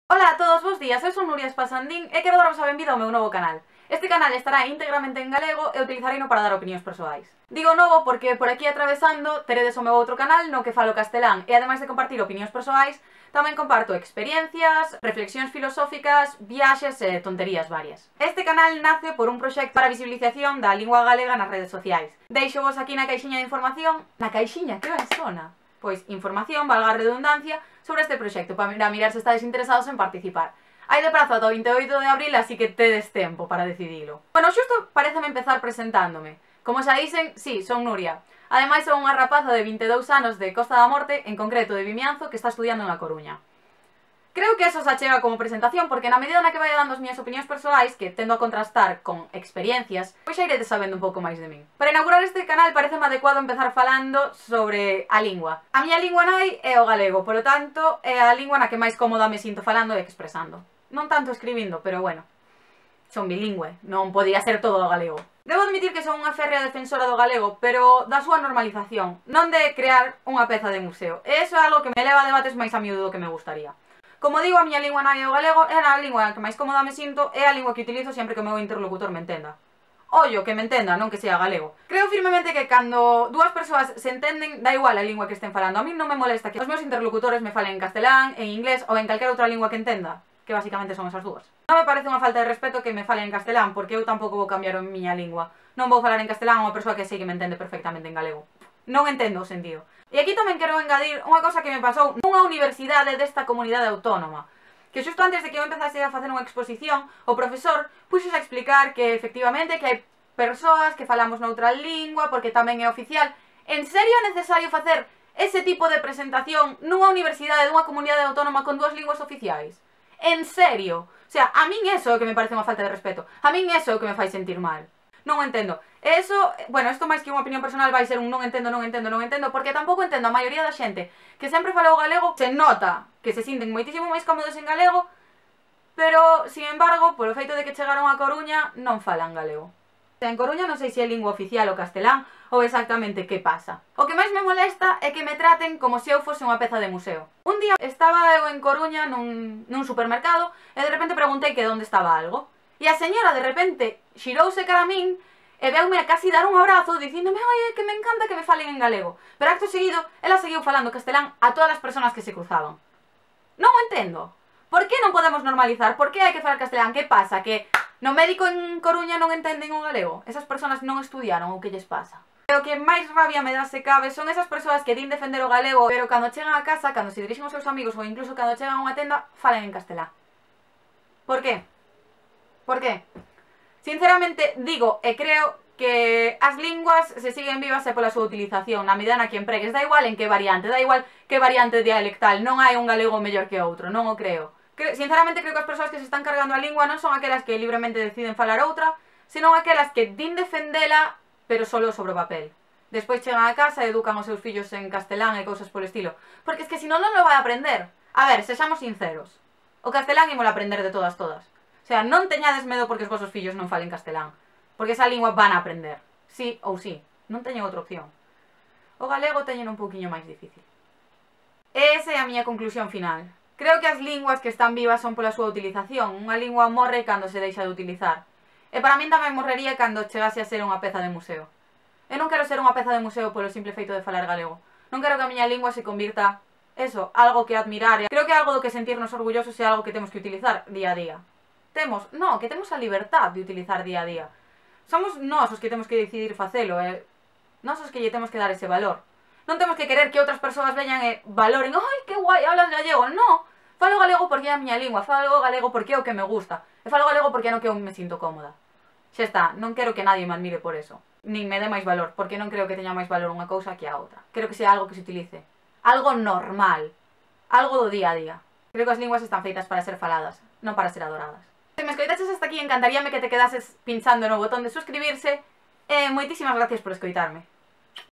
Ola a todos, bos días, eu son Nuria Espasandín e quero daros a benvida ao meu novo canal. Este canal estará íntegramente en galego e utilizareino para dar opinións persoais. Digo novo porque por aquí atravesando teredes o meu outro canal no que falo castelán e ademais de compartir opinións persoais, tamén comparto experiencias, reflexións filosóficas, viaxes e tonterías varias. Este canal nace por un proxecto para a visibilización da lingua galega nas redes sociais. Deixo vos aquí na caixiña de información, na caixiña, que ben sona? Pois información, valga a redundancia, sobre este proxecto para mirar se estades interesados en participar. Hai de prazo ata o 28 de abril, así que tedes tempo para decidilo. Bueno, xusto pareceme empezar presentándome. Como xa dicen, sí, son Nuria. Ademais son unha rapaza de 22 anos de Costa da Morte, en concreto de Vimianzo, que está estudiando en A Coruña. Creo que eso se achega como presentación, porque na medida na que vai dando as miñas opinións persoais, que tendo a contrastar con experiencias, pois xa iredes sabendo un pouco máis de min. Para inaugurar este canal pareceme adecuado empezar falando sobre a lingua. A miña lingua nai é o galego, polo tanto, é a lingua na que máis cómoda me sinto falando e expresando. Non tanto escribindo, pero bueno, son bilingüe, non podía ser todo o galego. Debo admitir que son unha férrea defensora do galego, pero da súa normalización, non de crear unha peza de museo. E iso é algo que me leva a debates máis a miúdo do que me gustaría. Como digo, a miña lingua nai é o galego, é a lingua que máis cómoda me sinto, é a lingua que utilizo sempre que o meu interlocutor me entenda. Ollo, que me entenda, non que sea galego. Creo firmemente que cando dúas persoas se entenden, da igual a lingua que estén falando. A mí non me molesta que os meus interlocutores me falen en castelán, en inglés ou en calquera outra lingua que entenda, que basicamente son esas dúas. Non me parece unha falta de respeto que me falen en castelán, porque eu tampouco vou cambiar a miña lingua. Non vou falar en castelán a unha persoa que sei que me entende perfectamente en galego. Non entendo o sentido. E aquí tamén quero engadir unha cosa que me pasou nunha universidade desta comunidade autónoma, que xusto antes de que eu empezase a facer unha exposición, o profesor puxose a explicar que efectivamente que hai persoas que falamos noutra lingua porque tamén é oficial. En serio é necesario facer ese tipo de presentación nunha universidade dunha comunidade autónoma con dúas linguas oficiais? En serio? O sea, a min eso é o que me parece unha falta de respeto. A min eso é o que me fai sentir mal. Non o entendo. E eso, bueno, isto máis que unha opinión personal vai ser un non entendo, porque tampouco entendo a maioría da xente que sempre fala o galego, se nota que se sinten moitísimo máis cómodos en galego, pero, sin embargo, polo feito de que chegaron a Coruña, non falan galego. En Coruña non sei se é lingua oficial o castelán ou exactamente que pasa. O que máis me molesta é que me traten como se eu fose unha peza de museo. Un día estaba eu en Coruña nun supermercado e de repente preguntei que onde estaba algo. E a señora de repente xirouse cara a min e veume a casi dar un abrazo dicíndome oye, que me encanta que me falen en galego. Pero acto seguido, ela seguiu falando castelán a todas as persoas que se cruzaban. Non o entendo. Por que non podemos normalizar? Por que hai que falar castelán? Que pasa? Que no médico en Coruña non entenden o galego? Esas persoas non estudiaron ou que lles pasa? E o que máis rabia me dá se cabe son esas persoas que din defender o galego, pero cando chegan a casa, cando se dirixen aos seus amigos ou incluso cando chegan a unha tenda, falan en castelán. Por que? Por que? Sinceramente, digo e creo que as linguas se siguen vivas e pola súa utilización, na medida na que empregues, da igual en que variante, da igual que variante dialectal, non hai un galego mellor que outro, non o creo. Sinceramente creo que as persoas que se están cargando a lingua non son aquelas que libremente deciden falar outra, senón aquelas que din defendela, pero solo sobre o papel. Despois chegan a casa e educan os seus fillos en castelán e cousas polo estilo. Porque es que si non, non lo vai aprender. A ver, sexamos sinceros. O castelán ímolo aprender de todas. O sea, non teñades medo porque os vosos fillos non falen castelán, porque esa lingua van a aprender, sí ou sí, non teñen outra opción. O galego teñen un pouquiño máis difícil. E esa é a miña conclusión final. Creo que as linguas que están vivas son pola súa utilización. Unha lingua morre cando se deixa de utilizar. E para min tamén morrería cando chegase a ser unha peza de museo. Eu non quero ser unha peza de museo polo simple feito de falar galego. Non quero que a miña lingua se convirta, eso, algo que admirar. Creo que algo do que sentirnos orgullosos é algo que temos que utilizar día a día. Que temos a libertad de utilizar día a día. Somos nós os que temos que decidir facelo, nós os que lle temos que dar ese valor. Non temos que querer que outras persoas veñan e valoren, ai, que guai, hablas gallego. Non, falo galego porque é a miña lingua, falo galego porque é o que me gusta, e falo galego porque é no que eu me sinto cómoda. Xa está, non quero que nadie me admire por eso, nin me dé máis valor, porque non creo que teña máis valor unha cousa que a outra. Quero que sea algo que se utilice, algo normal, algo do día a día. Creo que as linguas están feitas para ser faladas, non para ser adoradas. Se me escoitaches hasta aquí, encantaríame que te quedases pinchando no botón de suscribirse e moitísimas gracias por escoitarme.